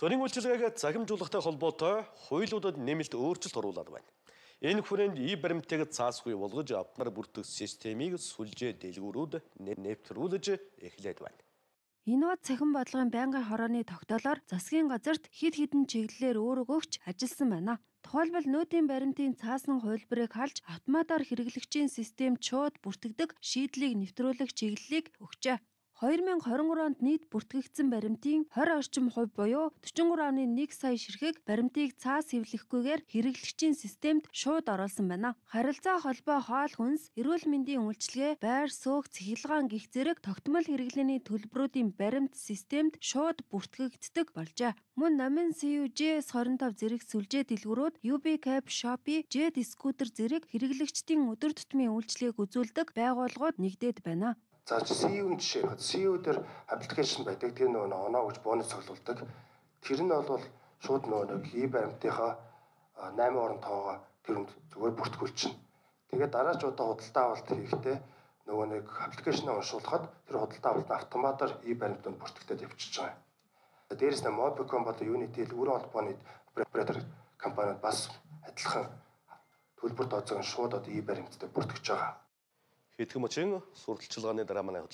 Төрийн үйлчилгээг захимжуулахтай холбоотой хуулиудад нэмэлт өөрчлөлт оруулаад байна. Энэ хүрээнд баримтыг цаасгүй болгож автомаар бүртгэх системийг сүлжээ дэлгүүрүүд нэвтрүүлж эхлээд байна. Энэ бод цахим бодлогын байнгын хорооны тогтоолоор засгийн газарт хэд хэдэн чиглэлээр өөрөг өгч ажилласан байна. Тухайлбал нүүдийн баримтын цаасан хувилбарыг халж автоматар хэрэглэгчийн системд шууд бүртгэдэг шийдлийг нэвтрүүлэх чиглэлийг өгчээ. 2023 онд нийт бүртгэгдсэн баримтын 20 орчим хувь буюу 43.1 сая ширхэг баримтыг цаас хэвлэхгүйгээр хэрэглэгчийн системд шууд оруулсан байна. Харилцаа холбоо хоол хүнс, эрүүл мэндийн үйлчилгээ, байр суух, цахилгаан гих зэрэг тогтмол хэрэглээний төлбөрүүдийн баримт системд шууд бүртгэгддэг болжээ. Мөн Номын CUJS25 зэрэг сүлжээ дэлгүүрүүд UBCAP, Shopee, Jet Scooter зэрэг хэрэглэгчдийн өдөр тутмын үйлчилгээг үзүүлдэг байгууллагууд нэгдээд байна. За CU жишээ нь CU дээр аппликейшн байдаг. Тэр нөгөө оноо гэж бонус цуглуулдаг. Тэр нь бол шууд нөгөө баримтынхаа 8 орон тоогоо тэрэнд зүгээр бүртгүүлчихнэ. Тэгээд дараачудаа худалдаа авалт хийхдээ нөгөө нэг аппликейшнээ уншуулхад тэр худалдаа авалт автоматар баримтанд бүртгэгдээд явчихж байгаа. Дээрээс нь Mobicom болон Unity өрөө холбооны оператор компаниуд бас адилхан төлбөр тооцоог шууд баримтад бүртгэж байгаа. Хэдхэн мөчийн сурталчилгааны дараа манай